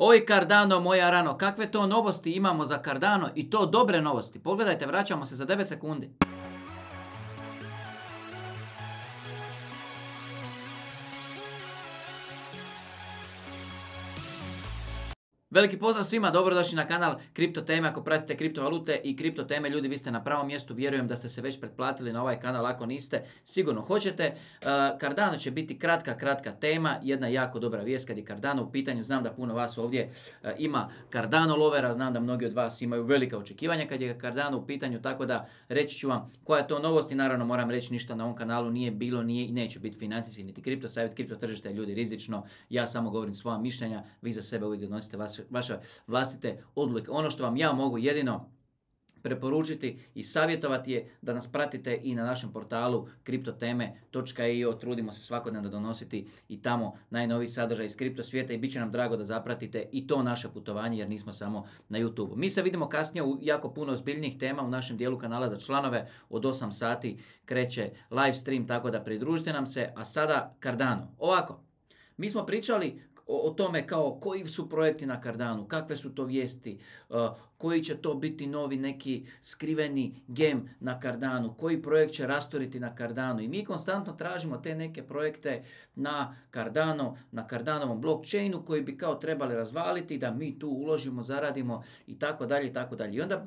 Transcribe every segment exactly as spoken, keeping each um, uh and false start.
Oj Cardano, moja rano, kakve to novosti imamo za Cardano i to dobre novosti. Pogledajte, vraćamo se za devet sekundi. Veliki pozdrav svima, dobrodošli na kanal Kripto teme. Ako pratite kriptovalute i kripto teme, ljudi, vi ste na pravom mjestu. Vjerujem da ste se već pretplatili na ovaj kanal. Ako niste, sigurno hoćete. Uh, Cardano će biti kratka, kratka tema. Jedna jako dobra vijest kad je Cardano u pitanju. Znam da puno vas ovdje uh, ima Cardano lovera. Znam da mnogi od vas imaju velika očekivanja kad je Cardano u pitanju. Tako da reći ću vam koja je to novost. I naravno moram reći, ništa na ovom kanalu nije bilo, nije i neće biti financijski niti kripto savjet. Kripto tržište je, ljudi, rizično. Ja samo govorim svoja mišljenja. Vi za sebe uvijek donosite vas vaše vlastite odluke. Ono što vam ja mogu jedino preporučiti i savjetovati je da nas pratite i na našem portalu kripto teme točka i o. Trudimo se svakodnevno donositi i tamo najnoviji sadržaj iz kripto svijeta i bit će nam drago da zapratite i to naše putovanje, jer nismo samo na YouTube. Mi se vidimo kasnije u jako puno ozbiljnijih tema u našem dijelu kanala za članove. Od osam sati kreće live stream, tako da pridružite nam se. A sada Cardano. Ovako, mi smo pričali o tome kao koji su projekti na Cardanu, kakve su to vijesti, uh, koji će to biti novi neki skriveni gem na Cardanu, koji projekt će rasturiti na Cardanu. I mi konstantno tražimo te neke projekte na Cardano, na Cardanovom blockchainu koji bi kao trebali razvaliti, da mi tu uložimo, zaradimo i tako dalje i tako dalje. I onda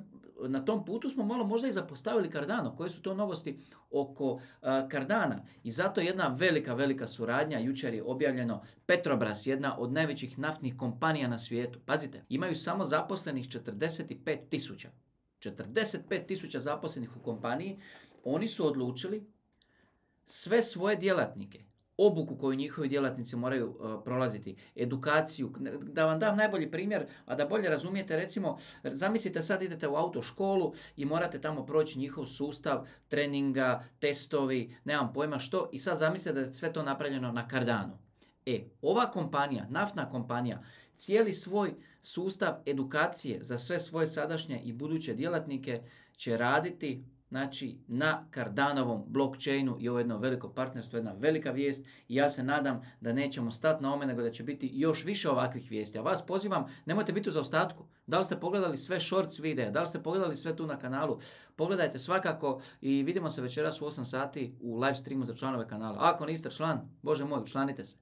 na tom putu smo malo možda i zapostavili Cardano. Koje su to novosti oko uh, Cardana? I zato jedna velika, velika suradnja. Jučer je objavljeno Petrobras, jedna od najvećih naftnih kompanija na svijetu. Pazite, imaju samo zaposlenih četrdeset pet tisuća. četrdeset pet tisuća zaposlenih u kompaniji. Oni su odlučili sve svoje djelatnike, obuku koju njihovi djelatnici moraju uh, prolaziti, edukaciju. Da vam dam najbolji primjer, a da bolje razumijete, recimo, zamislite sad idete u autoškolu i morate tamo proći njihov sustav treninga, testovi, nemam pojma što, i sad zamislite da je sve to napravljeno na Cardanu. E, ova kompanija, naftna kompanija, cijeli svoj sustav edukacije za sve svoje sadašnje i buduće djelatnike će raditi, znači, na Cardanovom blockchainu, i ovo je jedno veliko partnerstvo, jedna velika vijest, i ja se nadam da nećemo stati na ome, nego da će biti još više ovakvih vijesti. A vas pozivam, nemojte biti u zaostatku. Da li ste pogledali sve shorts videa, da li ste pogledali sve tu na kanalu, pogledajte svakako i vidimo se večeras u osam sati u live streamu za članove kanala. Ako niste član, Bože moj, učlanite se.